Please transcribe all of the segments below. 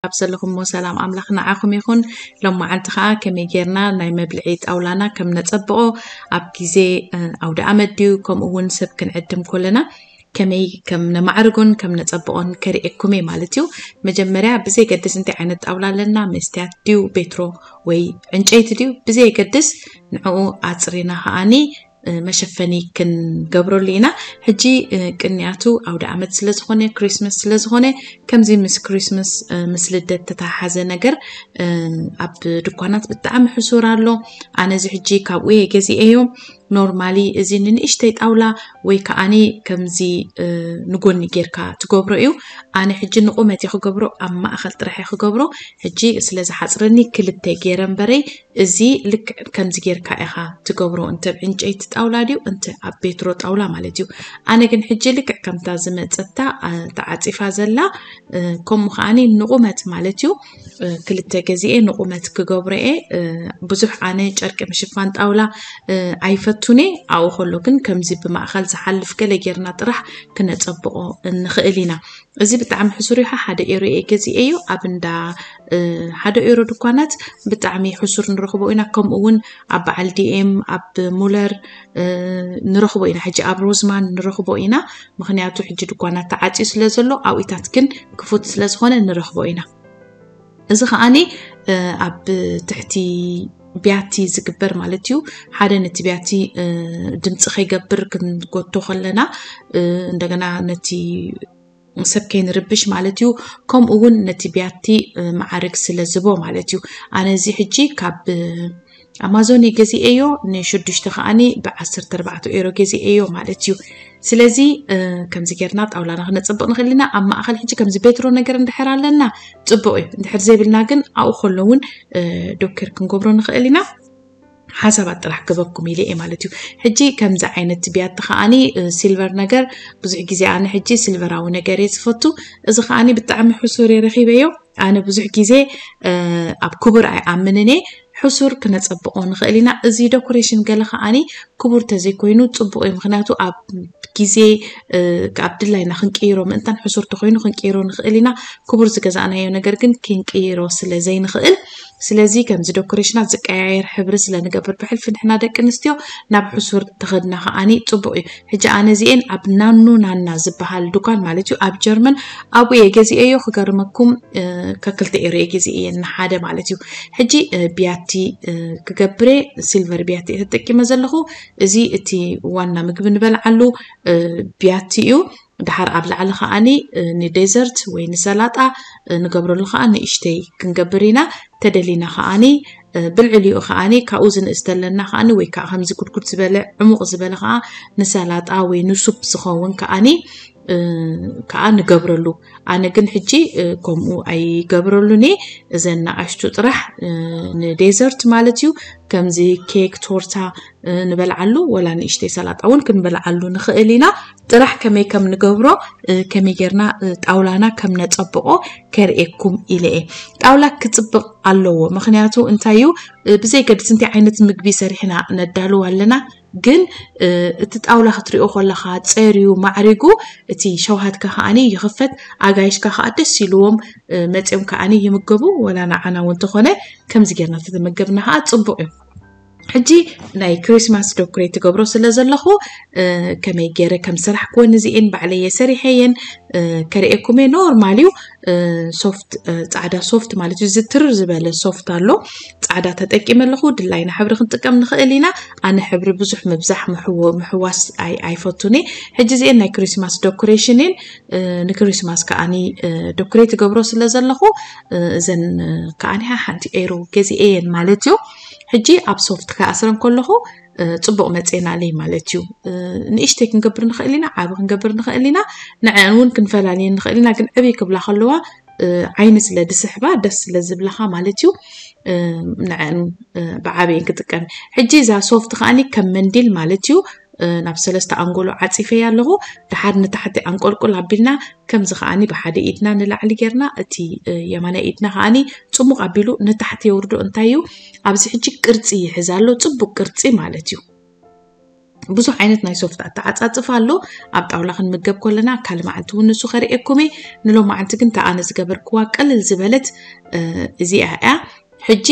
ኣብ ዘለኹሞ ሰላም ኣምላኽ ንዓኹም ይኹን። ሎማዓንቲ ከዓ ከመይ ጌርና ናይ መብልዒ ጣውላና ከም ነጸብቆ፣ ኣብ ግዜ ኣውደ ኣመት ድዩ፣ ከምኡ እውን ሰብ ክንዕድም ኮለና ከመይ ከም ነማዕርጎን ከም ነጸብቆን ከርእየኩም እየ ማለት እዩ። መጀመርያ ብዘይገድስ እንታይ ዓይነት ጣውላ ኣለና፣ መስትያት ድዩ ቤትሮ ወይ ዕንጨይቲ ድዩ ብዘይገድስ ንዕኡ ኣጽሪና ከዓኒ መሸፈኒ ክንገብረሉ ኢና። ሕጂ ቅንያቱ ኣውደ ኣመት ስለዝኾነ፣ ክሪስመስ ስለዝኾነ፣ ከምዚ ምስ ክሪስመስ ምስ ልደት ተተሓሓዘ ነገር ኣብ ድኳናት ብጣዕሚ ሕሱር ኣሎ። ኣነ እዚ ሕጂ ካብኡ እየ ገዚኤዮ። ኖርማሊ እዚ ንንእሽተይ ጣውላ ወይ ከዓኒ ከምዚ ንጎኒ ጌርካ ትገብሮ እዩ። ኣነ ሕጂ ንቁመት እየ ክገብሮ፣ ኣብ ማእኸል ጥራሕ እየ ክገብሮ። ሕጂ ስለ ዝሓፅረኒ ክልተ ገይረ እምበረይ፣ እዚ ልክዕ ከምዚ ጌርካ ኢኻ ትገብሮ፣ እንተ ኣብ ዕንጨይቲ ጣውላ ድዩ እንተ ኣብ ቤትሮ ጣውላ ማለት እዩ። ኣነ ግን ሕጂ ልክዕ ከምታ ዝመፀታ ተዓፂፋ ዘላ ከምኡ ከዓኒ ንቁመት ማለት እዩ። ክልተ ገዚኤ ንቁመት ክገብሮ እየ። ብዙሕ ኣነ ጨርቂ ምሽፋን ጣውላ ኣይፈቱን እየ። ኣብኡ ከሎ ግን ከምዚ ብማእኸል ዝሓልፍ ገለ ጌርና ጥራሕ ክነፀብቆ ንኽእል ኢና። እዚ ብጣዕሚ ሕሱር እዩ። ሓደ ኤሮ እየ ገዚኤዮ ኣብ እንዳ ሓደ ኤሮ ድኳናት ብጣዕሚ ሕሱር ንረኽቦ ኢና። ከምኡ እውን ኣብ በዓል ዲኤም፣ ኣብ ሙለር ንረኽቦ ኢና። ሕጂ ኣብ ሮዝማን ንረኽቦ ኢና። ምኽንያቱ ሕጂ ድኳናት ተዓፅዩ ስለ ዘሎ ኣብኢታት ግን ክፉት ስለ ዝኾነ ንረኽቦ ኢና። እዚ ከዓኒ ኣብ ትሕቲ ቢያቲ ዝግበር ማለት እዩ። ሓደ ነቲ ቢያቲ ድምፂ ከይገብር ክንጎቶ ከለና እንደገና ነቲ ሰብ ከይንርብሽ ማለት እዩ። ከምኡ እውን ነቲ ቢያቲ ማዕርግ ስለ ዝቦ ማለት እዩ። ኣነ እዚ ሕጂ ካብ ኣማዞን ገዚኤዮ ንሽዱሽተ ከዓኒ ብዓሰርተ ኣርባዕተ ኤሮ ገዚኤዮ ማለት እዩ። ስለዚ ከምዚ ጌርና ጣውላና ክነፅብቕ ንኽእል ኢና። ኣብ ማእኸል ሕጂ ከምዚ ቤትሮ ነገር እንድሕር ኣለና ፅቡቕ እዩ። እንድሕር ዘይብልና ግን ኣብኡ ከሎ እውን ዶክር ክንገብሮ ንኽእል ኢና። ሓሳባት ጥራሕ ክበኩም ኢለ እየ ማለት እዩ። ሕጂ ከምዚ ዓይነት ቢያቲ ከዓኒ ሲልቨር ነገር ብዙሕ ግዜ ኣነ ሕጂ ሲልቨራዊ ነገር እየ ዝፈቱ። እዚ ከዓኒ ብጣዕሚ ሕሱር እየ ረኺበዮ። ኣነ ብዙሕ ግዜ ኣብ ክቡር ኣይኣምንን እየ። ሕሱር ክነጸብቆ ንኽእል ኢና። እዚ ዶኮሬሽን ገለ ከዓኒ ክቡር ተዘይኮይኑ ጽቡቕ እዩ። ምኽንያቱ ኣብ ግዜ ኣብ ድላይና ክንቅይሮ ምእንታን ሕሱር ተኮይኑ ክንቅይሮ ንኽእል ኢና። ክቡር ዝገዛእናዮ ነገር ግን ክንቅይሮ ስለ ዘይንኽእል፣ ስለዚ ከምዚ ዶኮሬሽናት ዝቀያየር ሕብሪ ስለ ንገብር ብሕልፊ ንሕና ደቂ ኣንስትዮ ናብ ሕሱር ተኸድና ከዓኒ ጽቡቕ እዩ። ሕጂ ኣነ እዚኤን ኣብ ናኑ ናና ዝበሃል ዱካን ማለት እዩ ኣብ ጀርመን ኣብኡ እየ ገዚኤዮ። ክገርመኩም ከክልተ ኤሮ እየ ገዚኤየን ንሓደ ማለት እዩ። ሕጂ ቢያቲ ክገብር እየ፣ ሲልቨር ቢያቲ እየ ተጠቂመ ዘለኹ። እዚ እቲ ዋና ምግቢ ንበልዓሉ ቢያቲ እዩ። ድሓር ኣብ ላዕሊ ከዓኒ ንዴዘርት ወይ ንሰላጣ ንገብረሉ ከዓ ንእሽተይ ክንገብር ኢና። ተደሊና ከዓኒ ብልዕሊኡ ከዓኒ ካብኡ ዝንእስ ተለና ከዓኒ ወይ ከዓ ከምዚ ጉድጉድ ዝበለ ዕሙቕ ዝበለ ከዓ ንሰላጣ ወይ ንሱፕ ዝኸውን ከዓኒ ከዓ ንገብረሉ። ኣነ ግን ሕጂ ከምኡ ኣይገብረሉን እየ። እዘን ንኣሽቱ ጥራሕ ንዴዘርት ማለት እዩ። ከምዚ ኬክ፣ ቶርታ ንበልዓሉ ወላ ንእሽተይ ሰላጣ እውን ክንበልዓሉ ንኽእል ኢና። ጥራሕ ከመይ ከም ንገብሮ ከመይ ጌርና ጣውላና ከም ነጸብቆ ከርእየኩም ኢለ እየ። ጣውላ ክጽብቕ ኣለዎ። ምኽንያቱ እንታይ እዩ፣ ብዘይ ገድስ እንታይ ዓይነት ምግቢ ሰሪሕና ነዳልው ኣለና፣ ግን እቲ ጣውላ ክትሪኦ ከለኻ ጸርዩ ማዕሪጉ እቲ ሸውሃትካ ከዓኒ ይኽፈት፣ ኣጋይሽካ ከዓ ደስ ኢልዎም መጺኦም ከዓኒ ይምገቡ። ወላ ንዓና እውን ተኾነ ከምዚ ጌርና ተተመገብና ከዓ ጽቡቕ እዩ። ሕጂ ናይ ክሪስማስ ዶክሬት ትገብሮ ስለ ዘለኹ ከመይ ገይረ ከም ሰራሕክወን እዚኤን ባዕለየ ሰሪሐየን ከርእየኩም እየ። ኖርማል እዩ። ሶፍት ፃዕዳ ሶፍት ማለት እዩ። ዝትርር ዝበለ ሶፍት ኣሎ። ፃዕዳ ተጠቂመ ኣለኹ። ድላይና ሕብሪ ክንጥቀም ንኽእል ኢና። ኣነ ሕብሪ ብዙሕ ምብዛሕ ምሕዋስ ኣይፈቱን እየ። ሕጂ እዚኤን ናይ ክሪስማስ ዶኮሬሽን እየን። ንክሪስማስ ከዓኒ ዶክሬት ትገብሮ ስለ ዘለኹ እዘን ከዓኒ ሓንቲ ኤሮ ገዚኤ እየን ማለት እዩ። ሕጂ ኣብ ሶፍት ክኣስረን ከለኹ ፅቡቕ መፅኤናለይ ማለት እዩ። ንእሽተይ ክንገብር ንኽእል ኢና፣ ዓቢ ክንገብር ንኽእል ኢና፣ ንዐን እውን ክንፈላልየን ንኽእል ኢና። ግን ዕብይ ክብላ ከለዋ ዓይኒ ስለ ድስሕባ ደስ ስለ ዝብለኻ ማለት እዩ። ንዐን ብዓብየን ክጥቀም። ሕጂ እዛ ሶፍት ከዓኒ ከም መንዲል ማለት እዩ። ናብ ሰለስተ ኣንጎሎ ዓፂፈያ ኣለኹ። ድሓር ንታሕቲ ኣንቆልቁል ኣቢልና ከምዚ ከዓኒ ብሓደ ኢድና ንላዕሊ ጌርና እቲ የማናይ ኢድና ከዓኒ ፅሙቕ ኣቢሉ ንታሕቲ የውርዶ። እንታይ እዩ ኣብዚ ሕጂ ቅርፂ ይሕዝ ኣሎ፣ ፅቡቅ ቅርፂ ማለት እዩ። ብዙሕ ዓይነት ናይ ሶፍት ኣተዓፃፅፋ ኣሎ። ኣብ ጣውላ ክንምገብ ከለና ካልእ መዓልቲ እውን ንሱ ከርእየኩም እየ። ንሎማዓንቲ ግን እታ ኣነ ዝገበርክዋ ቅልል ዝበለት እዚኣ እያ። ሕጂ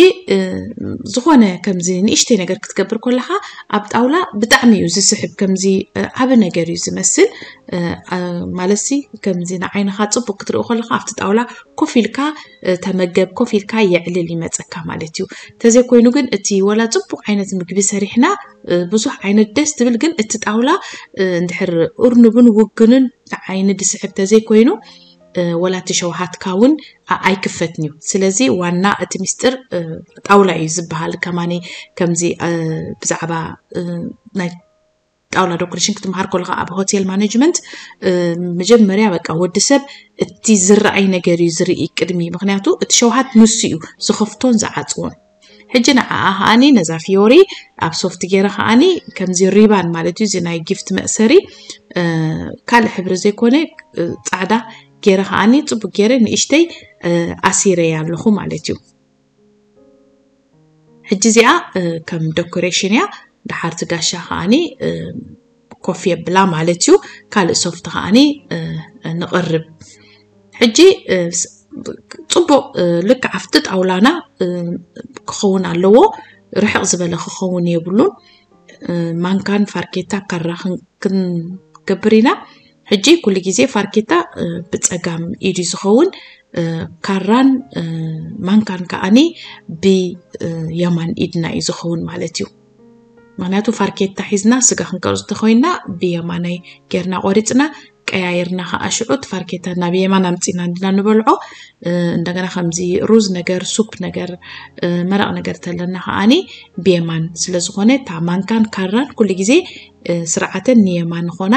ዝኾነ ከምዚ ንእሽተይ ነገር ክትገብር ከለካ ኣብ ጣውላ ብጣዕሚ እዩ ዝስሕብ። ከምዚ ዓቢ ነገር እዩ ዝመስል። ማለትሲ ከምዚ ንዓይንካ ጽቡቅ ክትርኢ ከለካ ኣብቲ ጣውላ ኮፍ ኢልካ ተመገብ፣ ኮፍ ኢልካ የዕልል ይመጸካ ማለት እዩ። ተዘይኮይኑ ግን እቲ ወላ ጽቡቅ ዓይነት ምግቢ ሰሪሕና ብዙሕ ዓይነት ደስ ትብል፣ ግን እቲ ጣውላ እንድሕር እርኑብን ውግንን ንዓይኒ ዝስሕብ ተዘይኮይኑ ወላ እቲ ሸውሃትካ እውን ኣይክፈትን እዩ። ስለዚ ዋና እቲ ሚስጥር ጣውላ እዩ ዝበሃል። ከማኒ ከምዚ ብዛዕባ ናይ ጣውላ ዶኮሬሽን ክትመሃር ከለካ ኣብ ሆቴል ማኔጅመንት መጀመርያ በቃ ወዲ ሰብ እቲ ዝረኣይ ነገር እዩ ዝርኢ ቅድሚ። ምክንያቱ እቲ ሸውሃት ንሱ እዩ ዝኸፍቶን ዝዓፅዎን። ሕጂ ንዓኣ ከዓኒ ነዛ ፊዮሪ ኣብ ሶፍት ገይረ ከዓኒ ከምዚ ሪባን ማለት እዩ፣ እዚ ናይ ጊፍት መእሰሪ ካልእ ሕብሪ ዘይኮነ ፃዕዳ ገይረ ከዓኒ ፅቡቅ ገይረ ንእሽተይ ኣሲረያ ኣለኹ ማለት እዩ። ሕጂ እዚኣ ከም ዶኮሬሽን እያ። ድሓርቲ ጋሻ ከዓኒ ኮፍ የብላ ማለት እዩ። ካልእ ሶፍት ከዓኒ ንቕርብ። ሕጂ ጽቡቕ ልክዕ ኣብቲ ጣውላና ክኸውን ኣለዎ። ርሕቕ ዝበለ ክኸውን የብሉን። ማንካን ፋርኬታ ካራ ክንገብር ኢና። ሕጂ ኩሉ ግዜ ፋርኬታ ብጸጋም ኢዱ ዝኸውን፣ ካራን ማንካን ከዓኒ ብየማን ኢድና እዩ ዝኸውን ማለት እዩ። ምክንያቱ ፋርኬታ ሒዝና ስጋ ክንቀርፅ ተኮይንና ብየማናይ ጌርና ቆሪፅና ቀያይርና ከዓ ሽዑ እቲ ፋርኬታ ናብ የማን ኣምፂና እንድና ንበልዖ። እንደገና ከምዚ ሩዝ ነገር፣ ሱፕ ነገር፣ መረቕ ነገር ተለና ከዓኒ ብየማን ስለዝኮነ እታ ማንካን ካራን ኩሉ ግዜ ስርዓተን ንየማን ኾና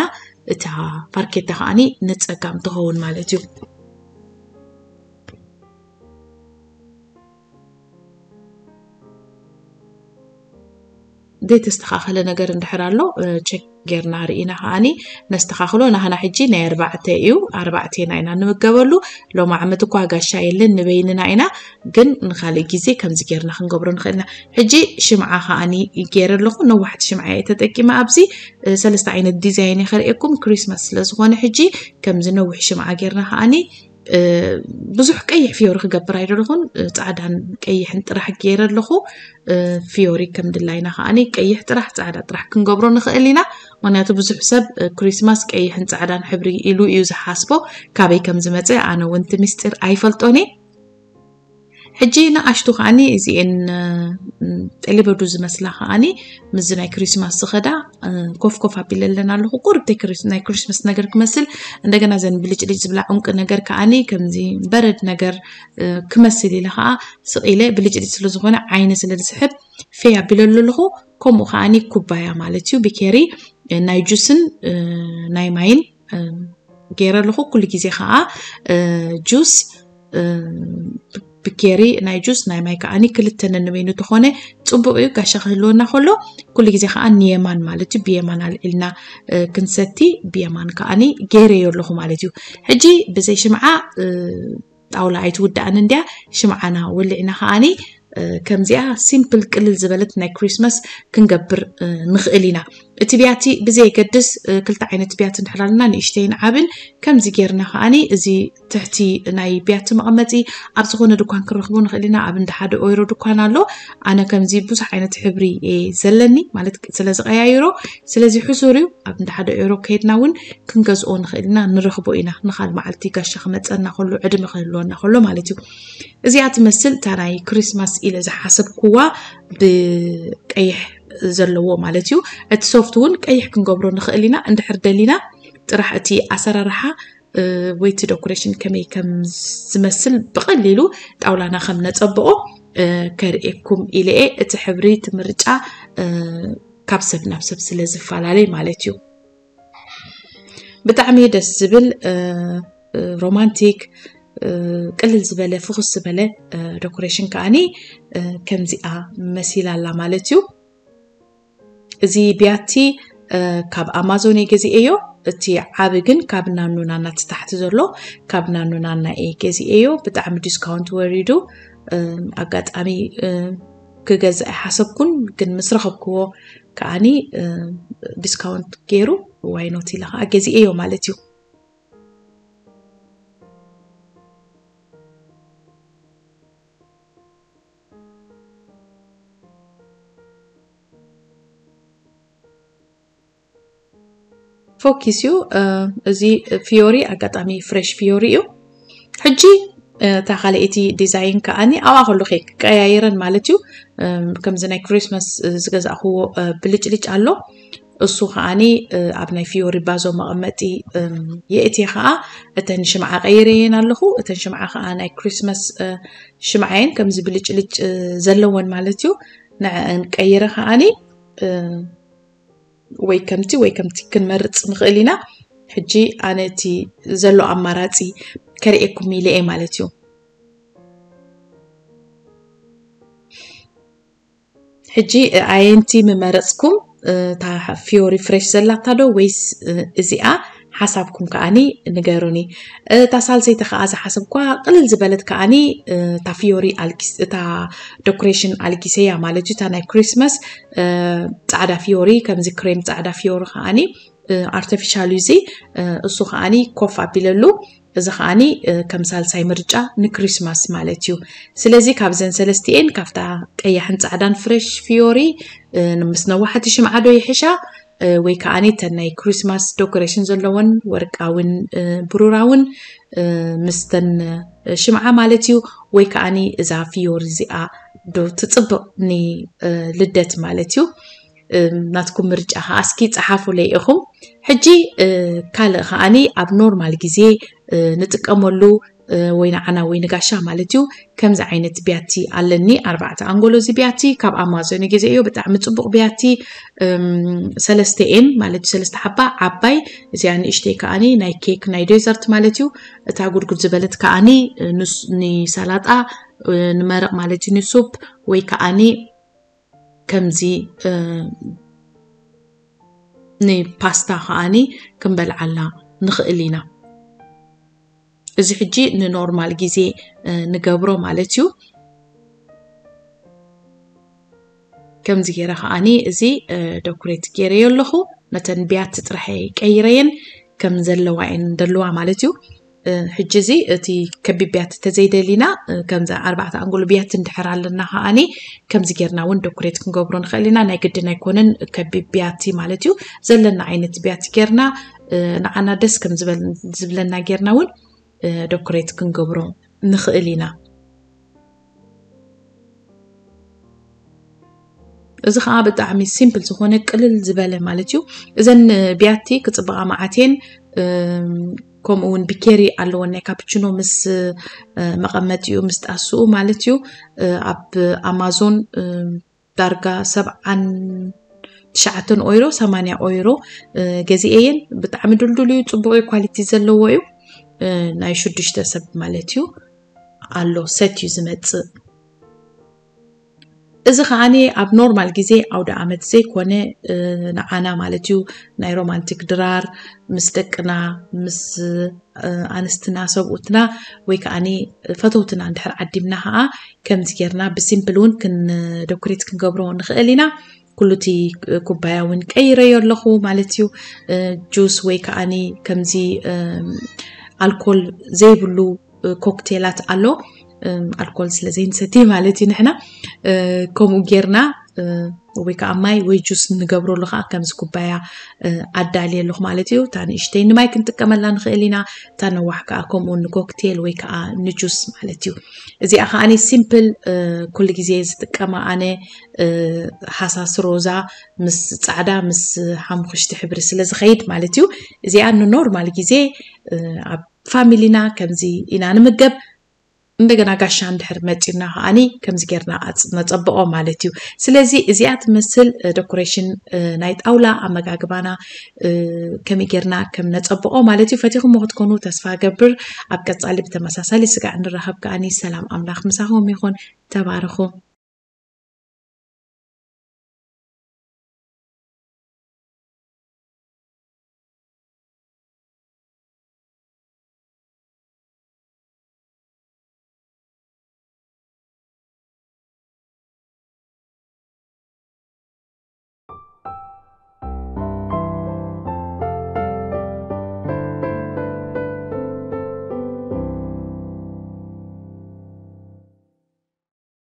እታ ፋርኬታ ከዓኒ ንፀጋም ትኸውን ማለት እዩ። ዘይተስተኻኸለ ነገር እንድሕር ኣሎ ቸክ ጌርና ርኢና ከዓኒ ነስተኻኽሎ። ናህና ሕጂ ናይ ኣርባዕተ እዩ፣ ኣርባዕቴና ኢና ንምገበሉ። ሎም ዓመት እኳ ጋሻ የለን፣ ንበይንና ኢና። ግን ንካልእ ግዜ ከምዚ ጌርና ክንገብሮ ንኽእል ኢና። ሕጂ ሽምዓ ከዓኒ ገይረ ኣለኹ። ነዋሕቲ ሽምዓ እየ ተጠቂመ። ኣብዚ ሰለስተ ዓይነት ዲዛይን እየ ከርእየኩም፣ ክሪስማስ ስለዝኾነ። ሕጂ ከምዚ ነዊሕ ሽምዓ ጌርና ከዓኒ ብዙሕ ቀይሕ ፍዮሪ ክገብር ኣይደለኹን። ፃዕዳን ቀይሕን ጥራሕ ገይረ ኣለኹ። ፍዮሪ ከም ድላይና ከዓኒ ቀይሕ ጥራሕ ፃዕዳ ጥራሕ ክንገብሮ ንኽእል ኢና። ምክንያቱ ብዙሕ ሰብ ክሪስማስ ቀይሕን ፃዕዳን ሕብሪ ኢሉ እዩ ዝሓስቦ። ካበይ ከም ዝመፀ ኣነ እውን እቲ ምስጢር ኣይፈልጦን እየ። ሕጂ ንኣሽቱ ከዓኒ እዚኤን ጠሊበዱ ዝመስላ ከዓኒ ምስዚ ናይ ክሪስማስ ዝኸዳ ኮፍ ኮፍ ኣቢለ ኣለና ኣለኹ። ቁርብ ናይ ክሪስማስ ነገር ክመስል፣ እንደገና ዘን ብልጭልጭ ዝብላ ዑንቂ ነገር ከዓኒ ከምዚ በረድ ነገር ክመስል ኢለ ከዓ ስቕ ኢለ ብልጭልጭ ስለዝኾነ ዓይኒ ስለ ዝስሕብ ፌ ኣቢለሉ ኣለኹ። ከምኡ ከዓኒ ኩባያ ማለት እዩ ብኬሪ ናይ ጁስን ናይ ማይን ገይረ ኣለኹ። ኩሉ ግዜ ከዓ ጁስ ብኬሪ ናይ ጁስ ናይ ማይ ከዓኒ ክልተ ነንበይኑ ተኾነ ፅቡቅ እዩ። ጋሻ ክህልወና ከሎ ኩሉ ግዜ ከዓ ንየማን ማለት እዩ ብየማን ኣልዒልና ክንሰቲ ብየማን ከዓኒ ገይረዮ ኣለኹ ማለት እዩ። ሕጂ ብዘይ ሽምዓ ጣውላ ኣይትውዳእን እንድያ። ሽምዓና ወሊዕና ከዓኒ ከምዚኣ ሲምፕል ቅልል ዝበለት ናይ ክሪስማስ ክንገብር ንኽእል ኢና። እቲ ብያቲ ብዘየገድስ ክልተ ዓይነት ብያቲ እንድሕር ኣለና ንእሽተይን ዓብን ከምዚ ጌርና ከዓኒ እዚ ትሕቲ ናይ ብያቲ መቐመጢ ኣብ ዝኾነ ድኳን ክንረኽቦ ንኽእል ኢና። ኣብ እንዳ ሓደ ኦይሮ ድኳን ኣሎ። ኣነ ከምዚ ብዙሕ ዓይነት ሕብሪ እየ ዘለኒ ማለት ስለ ዝቀያይሮ፣ ስለዚ ሕሱር እዩ። ኣብ እንዳ ሓደ ኦይሮ ከይድና እውን ክንገዝኦ ንኽእል ኢና፣ ንረኽቦ ኢና። ንኻል መዓልቲ ጋሻ ክመፀና ከሎ ዕድመ ክህልወና ከሎ ማለት እዩ። እዚኣ ትመስል እታ ናይ ክሪስማስ ኢለ ዝሓሰብኩዋ ብቀይሕ ዘለዎ ማለት እዩ። እቲ ሶፍት እውን ቀይሕ ክንገብሮ ንኽእል ኢና እንድሕር ደሊና። ጥራሕ እቲ ኣሰራርሓ ወይ እቲ ዶኮሬሽን ከመይ ከም ዝመስል ብቐሊሉ ጣውላና ከም ነጸብቆ ከርእየኩም ኢለ እየ። እቲ ሕብሪ እቲ ምርጫ ካብ ሰብ ናብ ሰብ ስለ ዝፈላለይ ማለት እዩ። ብጣዕሚ ደስ ዝብል ሮማንቲክ ቅልል ዝበለ ፍኹስ ዝበለ ዶኮሬሽን ከዓኒ ከምዚኣ መሲላ ኣላ ማለት እዩ። እዚ ቢያቲ ካብ ኣማዞን እየ ገዚኤዮ። እቲ ዓቢ ግን ካብ ናኑ ናና እቲ ታሕቲ ዘሎ ካብ ናኑ ናና እየ ገዚኤዮ። ብጣዕሚ ዲስካውንት ወሪዱ ኣጋጣሚ ክገዝእ ኣይሓሰብኩን፣ ግን ምስ ረኸብክዎ ከዓኒ discount ገይሩ why not ኢለ ከዓ ገዚኤዮ ማለት እዩ። ፎኪስ እዩ። እዚ ፊዮሪ ኣጋጣሚ ፍሬሽ ፊዮሪ እዩ። ሕጂ እታ ካልኣይቲ ዲዛይን ከዓኒ ኣብኣ ከለኹ እየ ክቀያይረን ማለት እዩ። ከምዚ ናይ ክሪስማስ ዝገዛእክዎ ብልጭልጭ ኣሎ። እሱ ከዓኒ ኣብ ናይ ፊዮሪ ባዞ መቐመጢ የእትየ ከዓ እተን ሽምዓ ቀይረየን ኣለኹ። እተን ሽምዓ ከዓ ናይ ክሪስማስ ሽምዓ እየን፣ ከምዚ ብልጭልጭ ዘለወን ማለት እዩ። ንዐን ቀይረ ከዓኒ ወይ ከምቲ ወይ ከምቲ ክንመርፅ ንኽእል ኢና። ሕጂ ኣነ እቲ ዘሎ ኣማራፂ ከርእየኩም ኢለ እየ ማለት እዩ። ሕጂ ኣየንቲ ምመረፅኩም፣ እታ ፊዮሪ ፍሬሽ ዘላታ ዶ ወይስ እዚኣ? ሓሳብኩም ከዓኒ ንገሩኒ። እታ ሳልሰይቲ ከዓ ዝሓሰብኳ ቅልል ዝበለት ከዓኒ እታ ፊዮሪ ኣልጊስ እታ ዶኮሬሽን ኣልጊሰያ ማለት እዩ። እታ ናይ ክሪስማስ ፃዕዳ ፊዮሪ፣ ከምዚ ክሬም ፃዕዳ ፊዮሪ ከዓኒ ኣርቲፊሻል እዩ እዚ። እሱ ከዓኒ ኮፍ ኣቢለሉ፣ እዚ ከዓኒ ከም ሳልሳይ ምርጫ ንክሪስማስ ማለት እዩ። ስለዚ ካብዘን ሰለስቲኤን ካብታ ቀያሕን ፃዕዳን ፍሬሽ ፊዮሪ ምስ ነዋሕቲ ሽምዓ ዶ ይሕሻ ወይ ከዓኒ ተን ናይ ክሪስማስ ዶኮሬሽን ዘለወን ወርቃውን ብሩራውን ምስተን ሽምዓ ማለት እዩ። ወይ ከዓኒ እዛ ፊዮሪ እዚኣ ዶ ትፅብቕ ንልደት ማለት እዩ። ናትኩም ምርጫ ከዓ እስኪ ፀሓፉለይ ኢኹም። ሕጂ ካልእ ከዓኒ ኣብ ኖርማል ግዜ ንጥቀመሉ ወይ ንዓና ወይ ንጋሻ ማለት እዩ። ከምዚ ዓይነት ቢያቲ ኣለኒ፣ ኣርባዕተ ኣንጎሎ እዚ ቢያቲ ካብ ኣማዞን ገዘዮ፣ ብጣዕሚ ፅቡቕ ቢያቲ። ሰለስተ ኤን ማለት እዩ፣ ሰለስተ ሓባ ዓባይ፣ እዚኣ ንእሽተይ ከዓኒ ናይ ኬክ ናይ ዴዘርት ማለት እዩ። እታ ጉድጉድ ዝበለት ከዓኒ ንሰላጣ ንመረቕ ማለት እዩ፣ ንሱፕ ወይ ከዓኒ ከምዚ ንፓስታ ከዓኒ ክንበልዓላ ንኽእል ኢና። እዚ ሕጂ ንኖርማል ግዜ ንገብሮ ማለት እዩ። ከምዚ ገይረ ከዓኒ እዚ ዶኩሬት ገይረዮ ኣለኹ። ነተን ቢያቲ ጥራሕ ቀይረየን ከም ዘለዋ እየን ደለዋ ማለት እዩ። ሕጂ እዚ እቲ ከቢብ ቢያቲ ተዘይደሊና ከምዚ ኣርባዕተ ኣንጎሎ ቢያቲ እንድሕር ኣለና ከዓኒ ከምዚ ጌርና እውን ዶኩሬት ክንገብሮ ንኽእል ኢና። ናይ ግድን ኣይኮነን ከቢብ ቢያቲ ማለት እዩ። ዘለና ዓይነት ቢያቲ ጌርና ንዓና ደስ ከም ዝበለና ጌርና እውን ዶኩሬት ክንገብሮ ንኽእል ኢና። እዚ ከዓ ብጣዕሚ ሲምፕል ዝኾነ ቅልል ዝበለ ማለት እዩ። እዘን ቢያቲ ክፅበቓ መዓት እየን። ከምኡ እውን ቢኬሪ ኣለወን ናይ ካፕችኖ ምስ መቐመጢኡ ምስ ጣስኡ ማለት እዩ። ኣብ ኣማዞን ዳርጋ ሰብዓን ትሽዓተን ኦይሮ፣ ሰማንያ ኦይሮ ገዚኤየን። ብጣዕሚ ድልዱል እዩ፣ ፅቡቅ ኳሊቲ ዘለዎ እዩ። ናይ ሽዱሽተ ሰብ ማለት እዩ ኣሎ ሰት እዩ ዝመፅእ። እዚ ከዓኒ ኣብ ኖርማል ግዜ ኣውደ ዓመት ዘይኮነ ንዓና ማለት እዩ ናይ ሮማንቲክ ድራር ምስ ደቅና ምስ ኣንስትና ሰብኡትና ወይ ከዓኒ ፈተውትና እንድሕር ዓዲምና ከዓ ከምዚ ጌርና ብሲምፕል እውን ክንደኩሬት ክንገብሮ ንኽእል ኢና። ኩሉ እቲ ኩባያ እውን ቀይረዮ ኣለኹ ማለት እዩ። ጁስ ወይ ከዓኒ ከምዚ ኣልኮል ዘይብሉ ኮክቴላት ኣሎ። ኣልኮል ስለ ዘይንሰቲ ማለት እዩ ንሕና ከምኡ ጌርና ወይ ከዓ ማይ ወይ ጁስ ንገብረሉ ከዓ ከምዚ ኩባያ ኣዳልየ ኣለኹ ማለት እዩ። እታ ንእሽተይ ንማይ ክንጥቀመላ ንኽእል ኢና፣ እታ ነዋሕ ከዓ ከምኡ ንኮክቴል ወይ ከዓ ንጁስ ማለት እዩ። እዚኣ ከዓ ሲምፕል ኩሉ ግዜ ዝጥቀማ ኣነ ሃሳስ ሮዛ ምስ ፃዕዳ ምስ ሓሙኽሽቲ ሕብሪ ስለ ዝኸይድ ማለት እዩ። እዚኣ ንኖርማል ግዜ ኣብ ፋሚሊና ከምዚ ኢና ንምገብ። እንደገና ጋሻ እንድሕር መፂና ከዓኒ ከምዚ ጌርና ነፀብቆ ማለት እዩ። ስለዚ እዚኣ ትመስል ደኮሬሽን ናይ ጣውላ ኣመጋግባና ከመይ ጌርና ከም ነፀብቆ ማለት እዩ። ፈቲኹሞ ክትኮኑ ተስፋ ገብር። ኣብ ቀፃሊ ብተመሳሳሊ ስጋዕ እንራኸብ ከዓኒ ሰላም ኣምላኽ ምሳኹም ይኹን። ተባረኹ።